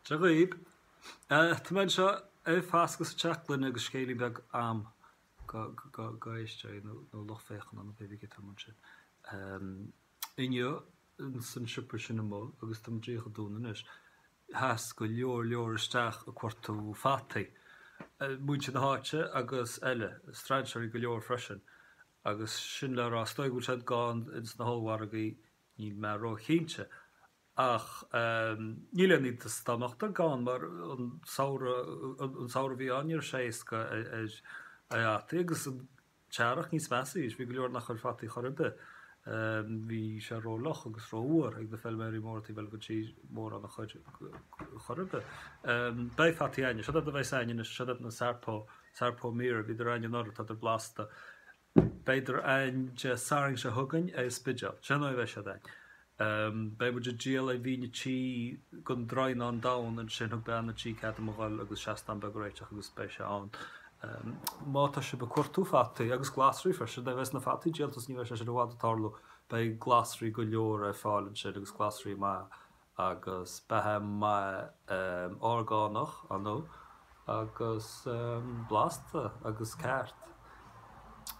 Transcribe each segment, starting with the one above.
Dia dhaoib. Tá mé anseo ag fascadh sa teach gloine agus scéilín beag a'm go éisteoirí nó lucht féachana nó pé bith cé atá ansin. Inniu ins an siopa sin amuigh agus tá muid díreach ag dúnadh anois, sheas go leor leor isteach ag cuartú fataí. Muintir na háite agus eile, strainséirí go leor freisin. Agus sin le rá, is dóigh go bhfuil siad gann ins na hollmhargaí, níl mé róchinnte. Ach níl aon iontas dá mbeadh gann mar an samhradh, an samhradh a bhí ann ní raibh sé éasca ar fhataí agus an t-earrach níos measa arís, bhí go leor nach chuir fataí chor ar bith. Bhí sé ró-fhliuch agus ró-fhuar ag na feilméaraí móra taobh eile den tír mórán a chur chor ar bith. Beidh fataí a'inne, siod iad a bheas a'inne anois, siod iad na Sarpo, Sarpo Mira, bhíodar a'inne anuraidh, tádar blasta. Beidar a'ainn Dé Sathairn seo chugainn ar an Spidéal. Sin an dóigh a bheidh siad a'ainn. Beidh muid ag díol ar mhín a tí den Draighneán Donn ansin. Thug bean an tí cead dom a dhul agus seastán beag a réiteach agus beidh sé ann. Má tá sibh ag cuartú fataí, agus glasraí freisin, nuair a bheas na fataí díolta is ní bheidh sé sin i bhfad ag tarlú, beidh glasraí go leor ar fáil ansin agus glasraí maithe. agus beatha maith orgánach, ar ndóigh, agus blasta agus ceart.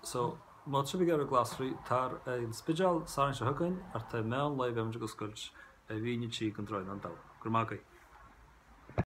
So, má tá sibh ag iarraidh glasraí, tar ar an Spidéal Satharn seo chugainn, thart ar meán lae beidh muid ag oscailt ar mhín a tí den Draighneán Donn. Go raibh maith agaibh.